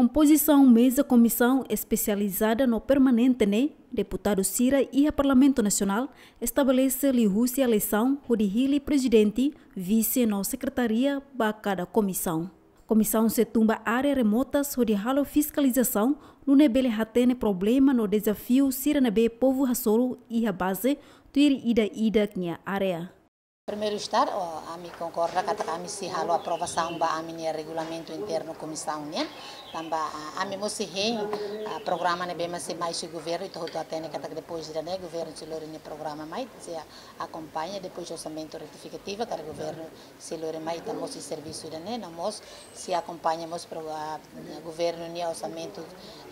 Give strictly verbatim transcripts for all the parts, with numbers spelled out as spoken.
Kompozisaun meza komisaun espesializada no permanente ne'e, deputadu sira iha Parlamentu Nasionál estabelese liuhusi eleisaun hodi hili prezidente, vise no sekretaria ba kada komisaun. Komisaun sei tun ba área remotas hodi halo fiskalizasaun, nune'e bele hatene problema no dezafiu sira ne'ebé povu hasoru iha baze, tuir ida-idak nia área. Primeiru estar, o, ami konkorda katak ami sei halo aprovasaun ba ami-nia regulamentu internu komisaun nian. Tanba, ah, ami mós sei hein, ah, programa ne'ebé mak sei mai husi governu, ita hotu hatene katak depois ida-ne'e governu sei lori nia programa mai, sei akompaña, depois orsamentu retifikativa, karik governu sei lori mai, ita mós sei servisu ida-ne'e, no mós sei akompaña mós pro, ah, governu nia orsamentu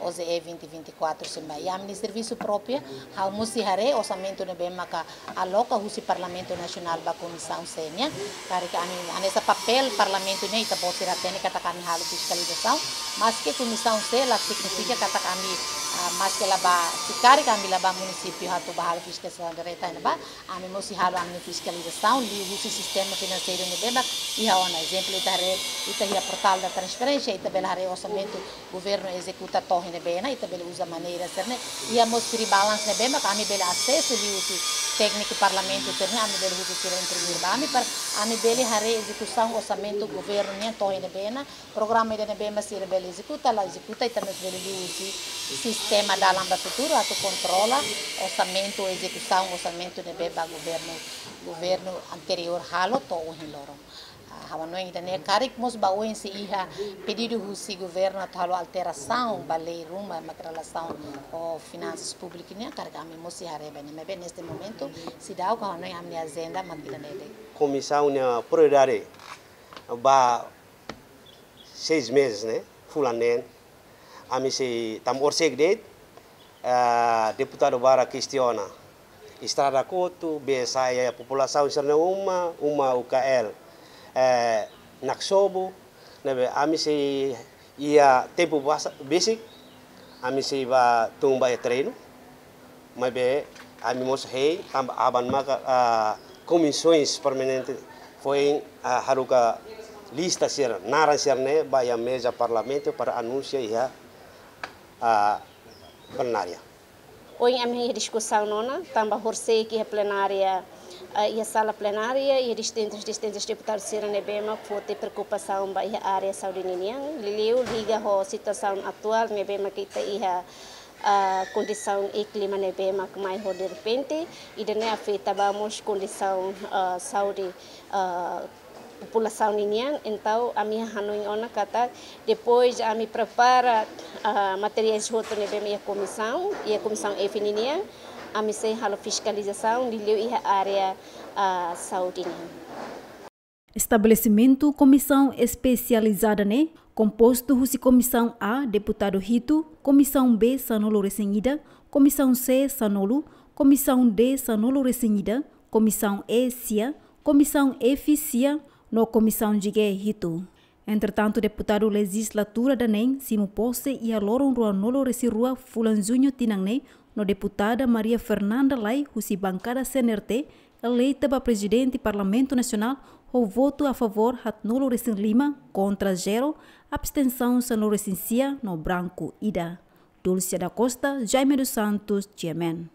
O J E vinte vinte e quatro sei mai. I ami-nia servisu própriu, ha'u mós sei haree orsamentu ne'ebé maka aloka husi Parlamentu Nasionál ba Komisaun C nian. Karik ami hanesan papél Parlamentu nian, ita-boot sira hatene katak ami halo fiskalizasaun. Maske Komisaun C la signifika katak ami, ah, maske la bá, se karik ami la bá munisípiu atu bá halo fiskalizasaun direta iha ne'ebá, ami mós sei halo ami-nia fiskalizasaun liuhusi sistema finanseiru ne'ebé mak iha ona. Ezemplu, ita haree, ita iha portál da transparénsia, ita bele haree orsamentu governu ezekuta to'o iha ne'ebé ona, ita bele uza maneira sira-ne'e. Iha mós free balance ne'ebé mak ami bele asesu liuhusi tékniku Parlamentu sira-ne'e, ami bele husu sira imprimir ba ami para ami bele haree ezekusaun orsamentu governu nian to'o iha ne'ebé ona, programa ida ne'ebé mak sira bele ezekuta, la ezekuta, ita mós bele liuhusi sistema dalan ba futuru atu kontrola orsamentu, ezekusaun orsamentu ne'ebé mak governu, governu anteriór halo to'o ohin loron. Ah, ha'u hanoin ida-ne'e karik mós ba oin sei iha pedidu husi governu atu halo alterasaun ba lei ruma mak relasaun ho finansas públiku nian, karik ami mós sei haree ba ne'e. Maibé neste momentu, seidauk, ha'u hanoin ami-nia ajenda mak ida-ne'e de'it. Komisaun nia prioridade ba seis meses ne'e, fulan neen. Ami sei, tanba orsida de'it, eh, deputadu barak kestiona estrada kotuk, bee sa'e iha populasaun sira-nia uma, uma U K L, eh, naksobu, ne'ebé ami sei iha tempu basa-, besik, ami sei bá tun ba iha terrenu. Maibé ami mós hein, tanba aban maka, ah, komisaun permanente foin, ah, haruka lista sira, naran sira-ne'e ba iha meza Parlamentu para anunsia iha, ah, plenária. Ohin ami iha diskusaun ona, tanba horisehik iha plenária, ah, iha sala plenária, iha distintus, distintus deputadu sira ne'ebé mak foti preokupasaun ba iha área saúde ninian, liuliu liga ho situasaun atuál ne'ebé mak ita iha, ah, kondisaun e klima ne'ebé mak mai ho derrepente, ida-ne'e afeta ba mós kondisaun, ah, saúde, ah, populasaun ninian. Entaun ami hanoin ona katak depois ami prepara, ah, materiais hotu ne'ebé iha komisaun, iha Komisaun F ninian, ami sei halo fiskalizasaun liuliu iha área, ah, saúde nian. Estabelesimentu komisaun espesializada ne'e kompostu husi Komisaun A, deputadu hitu, Komisaun B, sanulu-resin-ida, Komisaun C, sanulu, Komisaun D, sanulu-resin-ida, Komisaun E, sia, Komisaun F, sia, no Komisaun G, hitu. Entretantu, deputadu lejizlatura Danem simu pose iha loron ruanulu-resin-rua fulan Juñu tinan ne'e, no deputada Maria Fernanda Lay husi bankada C N R T, eleita ba prezidente Parlamentu Nasionál ho votu a favór haatnulu-resin-lima, kontra zero, abstensaun sanulu-resin-sia no branku ida. Dulcia da Costa, Jaime dos Santos, G M N.